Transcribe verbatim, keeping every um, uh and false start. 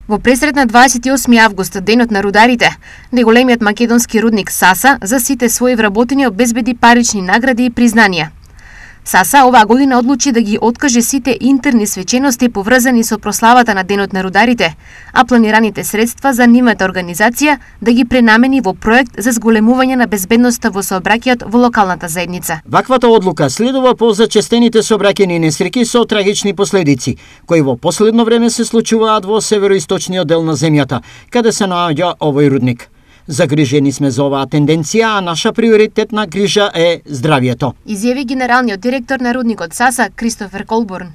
Во пресрет на дваесет и осми август, денот на рударите, најголемиот македонски рудник Саса за сите своји вработени обезбеди парични награди и признанија. Саса оваа година одлучи да ги откаже сите интерни свечености поврзани со прославата на денот на рударите, а планираните средства за нивната организација да ги пренамени во проект за зголемување на безбедноста во сообраќајот во локалната заедница. Ваквата одлука следува по зачестените сообраќајни несреќи со трагични последици, кои во последно време се случуваат во североисточниот дел на земјата, каде се наоѓа овој рудник. Загрижени сме за оваа тенденција, а наша приоритетна грижа е здравието, изјави генералниот директор на рудникот Саса Кристофер Колбурн.